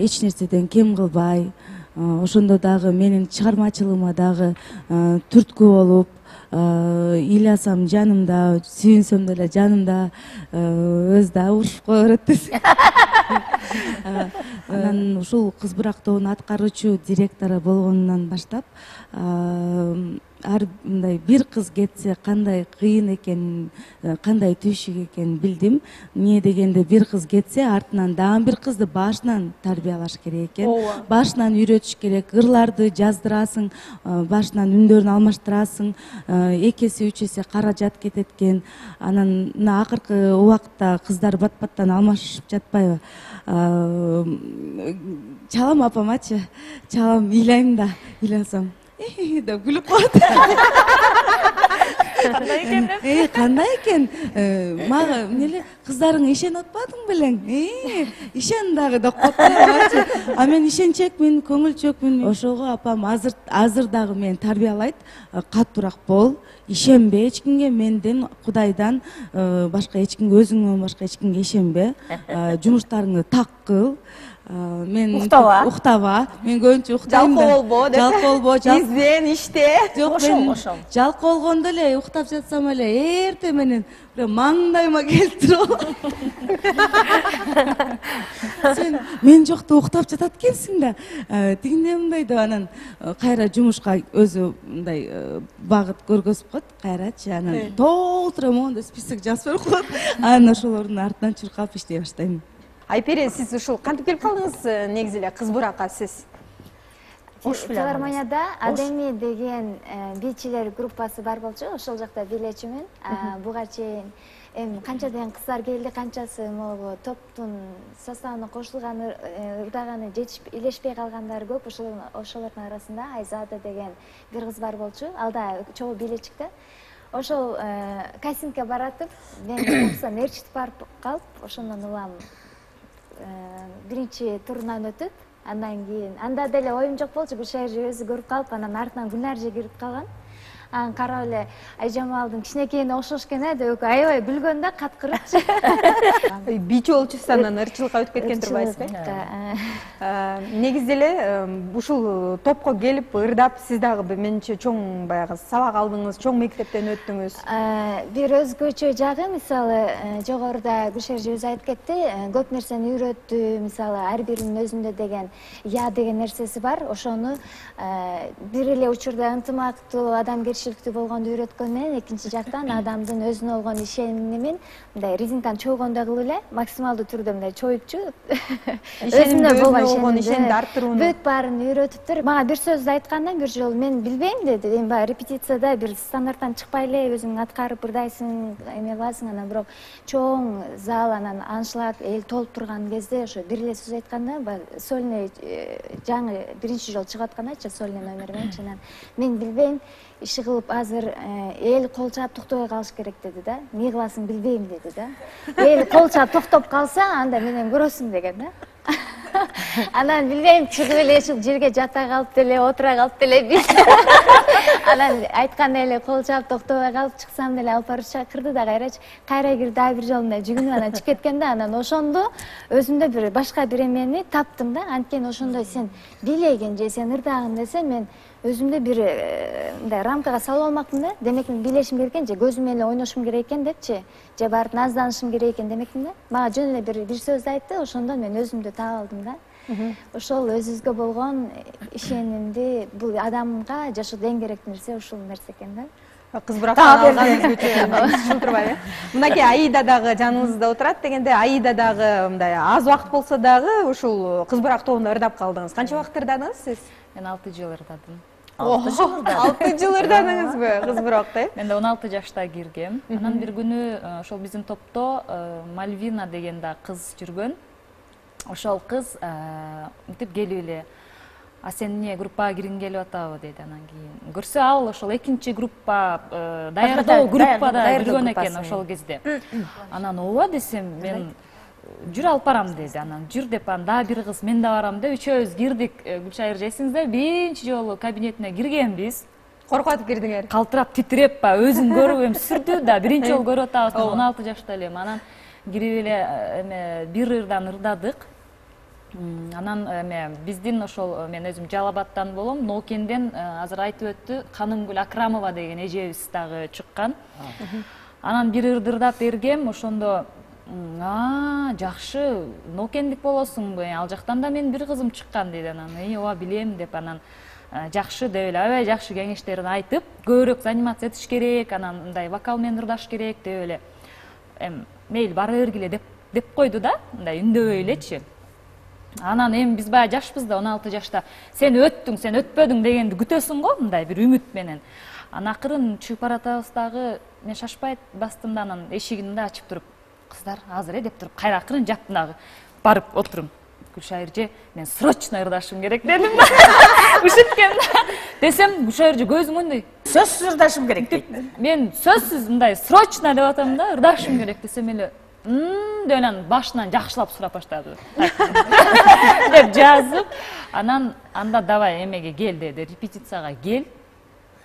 эч нерседен кем кылбай, ошондо дагы менин чыгармачылыгыма дагы түрткү болуп, ыйласам жанымда, сүйүнсөм деле жанымда, өзү да урушуп кое берет десе. Анан ушул Кыз Бур актоонун аткаруучу директору болгонунан баштап, ар мындай бир кыз кетсе кандай кыйын экенин, кандай түйшүк экенин билдим. Эмне дегенде бир кыз кетсе, артынан дагы бир кызды башынан тарбиялаш керек экен. Башынан үйрөтүш керек. Ырларды жаздырасың, башынан үндөрүн алмаштырасың. эки эсе үч эсе каражат кетет экен. Анан мына акыркы убакытта кыздар бат-баттан алмашып жатпайбы? Чалам апамачы, чалам ыйлайм да, ыйласам деп күлүп коет. Кандай экен деп? Э, кандай экен? Мага эмне кыздарың ишенип атпадың белең? Э, ишен дагы деп коет. А мен ишенчекмин, көңүлчөкмүн. Ошого апам азыр азыр дагы мени тарбиялайт. Катуураак бол, ишенбе эч кимге, менден, Кудайдан башка эч кимге, өзүңдөн башка эч кимге ишенбе. Жумуштарыңды так кыл. Мен уктаба, уктаба. Мен көбүнчө уктайм. Жалкоо болбо деп. Жалкоо болбо, изден, иште. Жок, мен жалкоо болгондо эле уктап жатсам эле эрте менен маңдайыма келтирип алам. Сен мен жокто уктап жатат экенсиң да. Тигине мындай деп анан кайра жумушка өзү мындай багыт көргөзүп коет, кайрачы. Анан толтура моундай список жазып берип коет. Анан ошолордун артынан чуркап иштей баштайм. Айпере, сиз ушул кантип келип калдыңыз негизи эле Кыз Буракка сиз? Филармонияда Адеми деген бийчилер группасы бар болчу, ошол жакта бийлечүмүн. Буга чейин эми канчадан кыздар келди, канчасы могу топтун составына кошулганы, ырдаганы жетишип, илешпей калгандары көп. Ошолордун арасында Айзада деген бир кыз бар болчу. Ал да чогуу бийлечик да. Ошол кастингке баратып, мен оксам ээрчитип барып калып, ошондон улам биринчи турунан өтүп, андан кийин анда деле оюм жок болчу, Гүлшайыр өзү көрүп калып, анан артынан Гүлнар же кирип калган. анан карап эле Айжамалдын кичинекейине окшош экен э деп аябай күлгөн да каткырыпчы. Бийчи болчусуз анан ырчылыкка өтүп кеткен турбайсызбы? Негизи эле ушул топко келип ырдап сиз дагы менимче чоң баягы сабак алдыңыз, чоң мектептен өттүңүз. Бир өзгөчө жагы мисалы жогоруда Гүлшер эже өзү айтып кетти, көп нерсени үйрөттү, мисалы ар биринин өзүндө деген я деген нерсеси бар. Ошону бир эле учурда ынтымактуу, адамгерчиликтүү болгонду үйрөткөн менен экинчи жактан адамдын өзүнө болгон ишенимин мындай резинканы чойгондой кылып эле максималдуу түрдө мындай чоюпчу. Өзүнө болгон ишенимди арттырууну. Бүт баарын үйрөтүптүр. Мага бир сөздү айтканда бир жолу мен билбейм деди. Эми баягы репетицияда бир стандарттан чыкпай эле өзүң аткарып ырдайсың, эме кыласың, анан бирок чоң зал анан аншлаг эл толуп турган кезде ошо бир эле сөз айтканда баягы сольный жаңы биринчи жолу чыгып аткандачы сольный номер мененчи анан мен билбейм иши кылып азыр эл кол чаап токтобой калыш керек деди да. Эмне кыласың билбейм деди да. Эл кол чаап токтоп калса анда менен көрөсүң деген да. Анан билбейм чыгып эле ушул жерге жата калып деле отура калып деле анан айткандай эле кол чаап токтобой калып чыксам деле алып барып чакырды да кайрачы кайра кир дагы бир жолу мындай жүгүнүп анан чыгып кеткен да. Анан ошондо өзүмдө бир башка бир эмени таптым да. Анткени ошондой сен бийлеген же сен ырдагын десе мен өзүмдө бир мындай рамкага салып алмакмын да. Демек мен бийлешим керек экен же көзүм эле ойношум керек экен депчи же барып назданышым керек экен демекмин да. Мага жөн эле бир бир сөздү айтты, ошондон мен өзүмдү таап алдым да. Ошол өзүбүзгө болгон ишенимди бул адамга жашоодо эң керектүү нерсе ушул нерсе экен да. Кыз бурактан алган өзгөчө ушул турбайбы? Мынакей Аида дагы жаныңызда отурат дегенде, Аида дагы мындай аз убакыт болсо дагы ушул кыз бурак тобунда ырдап калдыңыз. Канча убакыт ырдадыңыз сиз? Мен алты жыл ырдадым. алты жыл ырдадыңызбы кыз буракта? Мен да он алты жашта киргем. Анан бир күнү ошол биздин топто Мальвина деген да кыз жүргөн. Ошол кыз мынтип келип эле а сен эмне группага киргиң келип атабы деди. Анан кийин көрсө ал ошол экинчи группа даярдоо группада жүргөн экен ошол кезде. Анан ооба десем мен жүр алып барам деди. Анан жүр деп анан дагы бир кыз мен да барам деп үчөөбүз кирдик. Гүлшайыр эсиңизде биринчи жолу кабинетине киргенбиз. Коркуп атып кирдиңер? Калтырап титиреп ба өзүн көрүп эми сүрдү да биринчи жолу көрүп атабыз. он алты жашта элем. Анан кирип эле эме бир ырдан ырдадык. Анан эме биздин ошол мен өзүм Жалал-Абадтан болом, Ноокенден азыр айтып өттү Канымгүл Акрамова деген эжебиз дагы чыккан. Анан бир ырды ырдап бергем, ошондо а жакшы Ноокендик болосуңбу? Ал жактан да менин бир кызым чыккан деди. Анан эй ооба билем деп анан жакшы деп эле аябай жакшы кеңештерин айтып, көбүрөөк занимация этиш керек, анан мындай вокал менен ырдаш керек деп эле эми мейли бара бергиле деп деп койду да, мындай үндөбөй элечи. Анан эми биз баягы жашпыз да, он алты жашта. Сен өттүң, сен өтпөдүң дегенди күтөсүң го, мындай бир үмүт менен. Анан акырын чыгып баратабыз дагы, мен шашпай бастым да, анан эшигин да ачып туруп, кыздар азыр э деп туруп, кайра акырын жаптым дагы. Барып отурум. Гүлшайыр эже, мен срочно ырдашым керек дедим да. Ушинткен да. Десем, Гүлшайыр эже көзүң мындай. Сөзсүз ырдашым керек дейт. Мен сөзсүз мындай срочно деп атам да, ырдашым керек десем эле Мм, деп анан башынан жакшылап сурап баштады. Деп жазып, анан анда давай эмеге кел деди, репетицияга кел.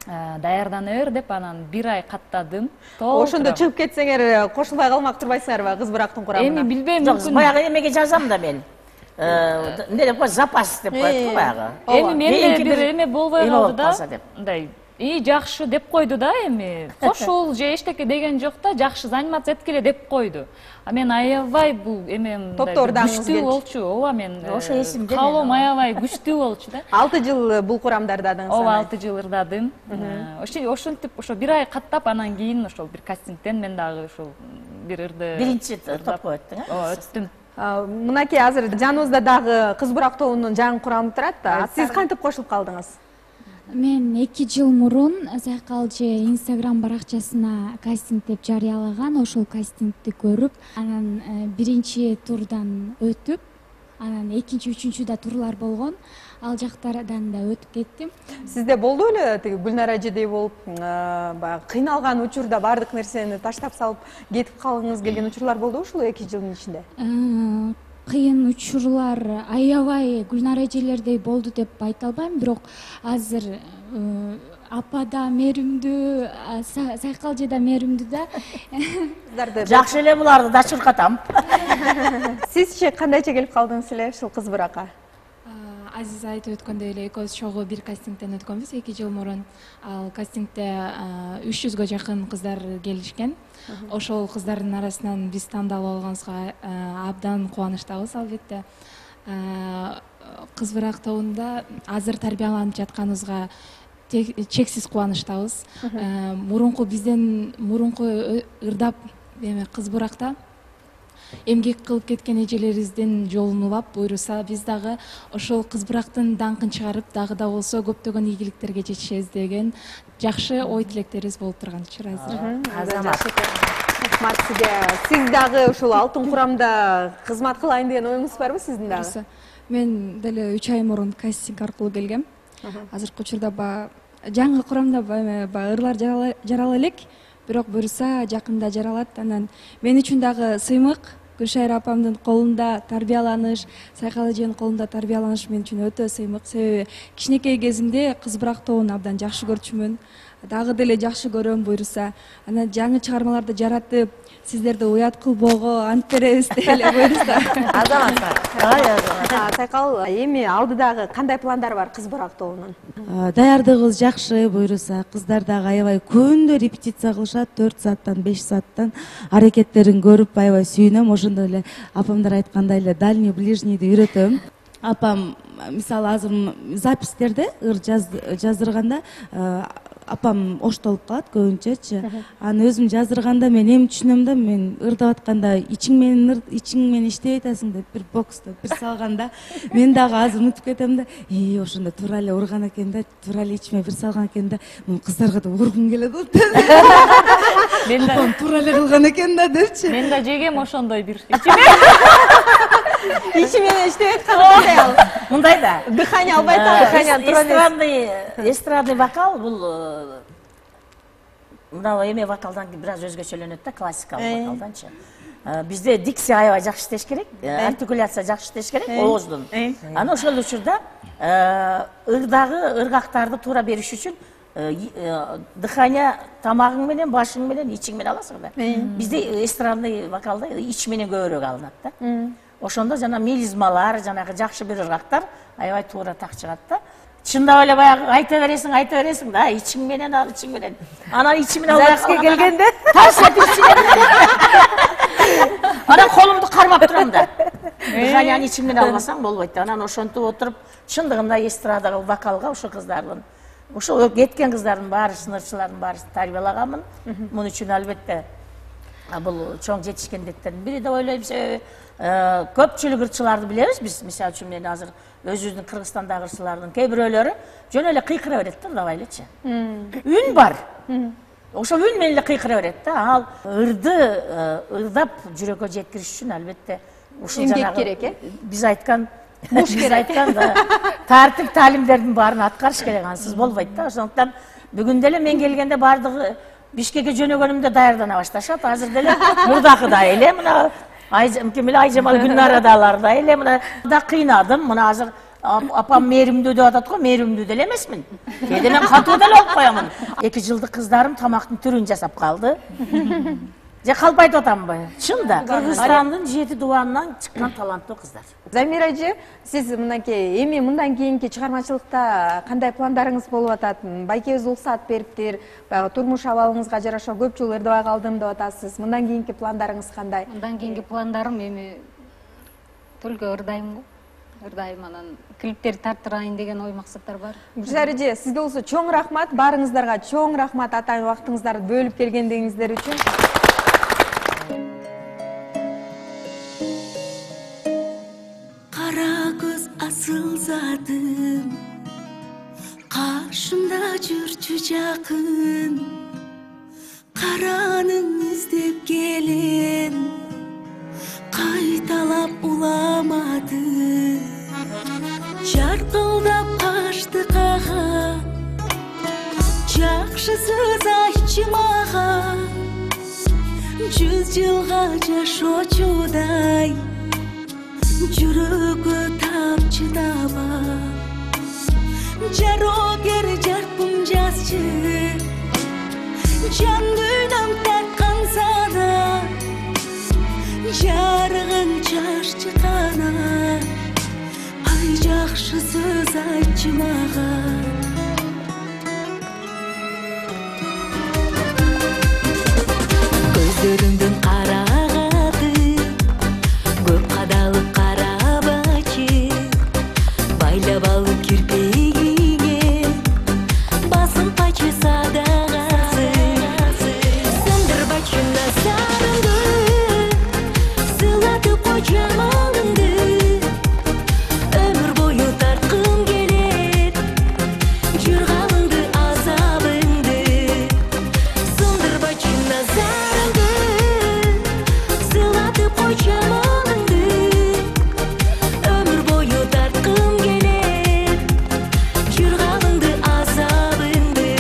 Даярдана бер деп анан бир ай каттадым. Ошондо чыгып кетсеңер кошулбай калмак турбайсыңарбы кыз бурактын курамына? Эми билбейм, мүмкүн. Баягы эмеге жазам да мен. Эмне деп коет, запас деп коет баягы. Эми менде бир эме болбой калды да. Мындай И жакшы деп койду да эми. Кошул же эчтеке деген жок да, жакшы занимация эткиле деп койду. А мен аябай бул эме мындай күчтүү болчу. Ооба мен ошо эсимде. Каалоом аябай күчтүү болчу да. алты жыл бул курамда ырдадыңыз. Ооба, алты жыл ырдадым. Ошентип ошо бир ай каттап анан кийин ошол бир кастингден мен дагы ошол бир ырды биринчи топко өттүң э? Ооба, өттүм. Мынакей азыр жаныбызда дагы кыз бурак тобунун жаңы курамы турат да. Сиз кантип кошулуп калдыңыз? Мен эки жыл мурун Сайкал же Инстаграм баракчасына кастинг деп жарыялаган, ошол кастингди көрүп, анан биринчи турдан өтүп, анан экинчи, үчүнчү да турлар болгон. Ал жактардан да өтүп кеттим. Сизде болду эле тиги Гүлнар эжедей болуп, баягы кыйналган учурда бардык нерсени таштап салып кетип калгыңыз келген учурлар болду ушул эки жылдын ичинде? кыйын учурлар аябай Гүлнар эжелердей болду деп айта албайм, бирок азыр апа да мээримдүү, Сайкал эже да мээримдүү да. Жакшы эле буларды да чуркатам. Сизчи кандайча келип калдыңыз эле ушул кыз буракка? Азиз айтып өткөндөй эле экөөбүз чогуу бир кастингден өткөнбүз эки жыл мурун. Ал кастингде үч жүзгө жакын кыздар келишкен. Ошол кыздардын арасынан биз тандалып алганыбызга абдан кубанычтабыз албетте. Кыз бурак тобунда азыр тарбияланып жатканыбызга чексиз кубанычтабыз. Мурунку бизден мурунку ырдап эме кыз буракта эмгек кылып кеткен эжелерибиздин жолун улап, буйруса биз дагы ошол кыз бурактын даңкын чыгарып, дагы да болсо көптөгөн ийгиликтерге жетишебиз деген жакшы ой тилектерибиз болуп турган учур азыр. Азамат. Рахмат сизге. Сиз дагы ушул алтын курамда кызмат кылайын деген оюңуз барбы сиздин дагы? Мен деле үч ай мурун кастинг аркылуу келгем. Азыркы учурда баягы жаңы курамда баягы ырлар жарала элек, бирок буюрса жакында жаралат. Анан мен үчүн дагы сыймык Гүлшайыр апамдын колунда тарбияланыш, Сайкал эженин колунда тарбияланыш мен үчүн өтө сыймык. Себеби кичинекей кезимде кыз бурак тобун абдан жакшы көрчүмүн. Дагы деле жакшы көрөм буюрса. Анан жаңы чыгармаларды жаратып, сиздерди уят кылбоого ант беребиз деле буюрса. Азамат. Сайкал, эми алдыдагы кандай пландар бар кыз бурак тобунун? Даярдыгыбыз жакшы буюрса, кыздар дагы аябай күндө репетиция кылышат, төрт сааттан беш сааттан аракеттерин көрүп аябай сүйүнөм. Ошондой эле апамдар айткандай эле дальний ближнийди үйрөтөм. Апам мисалы азыр запистерде ыр жаздырганда апам оштолуп калат көбүнчөчү. Аны өзүм жаздырганда мен эми түшүнөм да, мен ырдап атканда ичиң менен ичиң менен иштеп атасың деп бир бокста бир салганда мен дагы азыр унутуп кетем да, и ошондо туура эле урган экен да, туура эле ичиме бир салган экен да, мен кыздарга да ургум келет болуп. Мен да туура эле кылган экен да депчи. Мен да жегем ошондой бир ичиме. Ичи менен иштеп аткандай ал. Мындай да. Дыхание албай атат. Эстрадный эстрадный вокал бул мына эме вокалдан бир аз өзгөчөлөнөт да, классикалык вокалданчы. Бизде дикция аябай жакшы иштеш керек, артикуляция жакшы иштеш керек ооздун. Аны ошол учурда ырдагы ыргактарды туура бериш үчүн дыхание тамагың менен, башың менен, ичиң менен аласың да. Бизде эстрадный вокалда ич менен көбүрөөк алынат да. Ошондо жана мелизмалар, жанагы жакшы бир ыргактар аябай туура так чыгат да. Чындап эле баягы айта бересиң, айта бересиң да, ичиң менен ал, ичиң менен. Анан ичиң менен албай келгенде тарс этип анан колумду кармап турам да. Дыханияны ичиң менен албасаң болбойт да. Анан ошентип отуруп, чындыгында эстрадага, вокалга ошо кыздардын, ошо кеткен кыздардын баары, сынырчылардын баары тарбиялаганмын. Мун үчүн албетте бул чоң жетишкендиктердин бири деп ойлойм. Көпчүлүк ырчыларды билебиз биз. Мисалы үчүн мен азыр өзүбүздүн Кыргызстандагы ырчылардын кээ бирөөлөрү жөн эле кыйкыра берет да, ырдабай элечи. Үн бар. Ошол үн менен эле кыйкыра берет да. Ал ырды ырдап жүрөккө жеткириш үчүн албетте ушул жанагы биз айткан муш керек айткан тартип таалимдердин баарын аткарыш керек, ансыз болбойт да. Ошондуктан бүгүн деле мен келгенде баардыгы Бишкекке жөнөгөнүмдө даярдана башташат. Азыр деле мурдакыдай эле мына Айжам Айжамал Гүлнарадалар да эле мына да кыйнадым. Мына азыр апам мээримдүү деп атат го, мээримдүү деле эмесмин. Кээде мен катуу деле болуп коёмун. эки жылдык кыздарым тамактын түрүн жасап калды. Же калп айтып атамбы? Чын да. Кыргызстандын жети дубанынан чыккан таланттуу кыздар. Замира эже, сиз мынакей эми мындан кийинки чыгармачылыкта кандай пландарыңыз болуп атат? Байкебиз уруксат бериптир, баягы турмуш абалыңызга жараша көп жыл ырдабай калдым деп атасыз. Мындан кийинки пландарыңыз кандай? Мындан кийинки пландарым эми только ырдайм го. Ырдайм, анан клиптерди тарттырайын деген ой максаттар бар. Гүлшайыр эже, сизге болсо чоң рахмат, баарыңыздарга чоң рахмат атайын убактыңыздарды бөлүп келгендигиңиздер үчүн. Кара көз асыл затым, каршымда жүрчү жакын, караның издеп келем, кайталап уламады, жаркылдап качты кага, жакшысыз айтчы мага, жүз жылга жашоочудай жүрөгө тап чыдаба жарогер жарпым жазчы жан дүйнөм тартканса да жарыгың чашчы кана ай жакшы сөз айтчы мага көздөрүңдүн карагаты көп кадалып карабачы байлап алып кирпегиңе басынпачы садагасы сындырбачы назарыңды сыйлатып кой жамалыңды өмүр бою тарткым келет жыргалыңды азабыңды сындырбачы назарыңды сыйлатып кой жамалыңды өмүр бою тарткым келет жыргалыңды азабыңды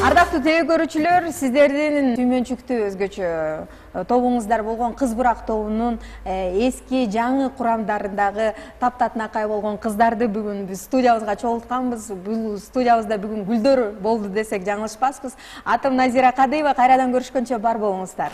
Ардактуу телекөрүүчүлөр, сиздердин сүймөнчүктүү өзгөчө тобуңуздар болгон Кыз Бурак тобунун эски жаңы курамдарындагы таптатынакай болгон кыздарды бүгүн биз студиябызга чогултканбыз. Бул студиябызда бүгүн гүлдөр болду десек жаңылышпаспыз. Атым Назира Кадыева, кайрадан көрүшкөнчө бар болуңуздар.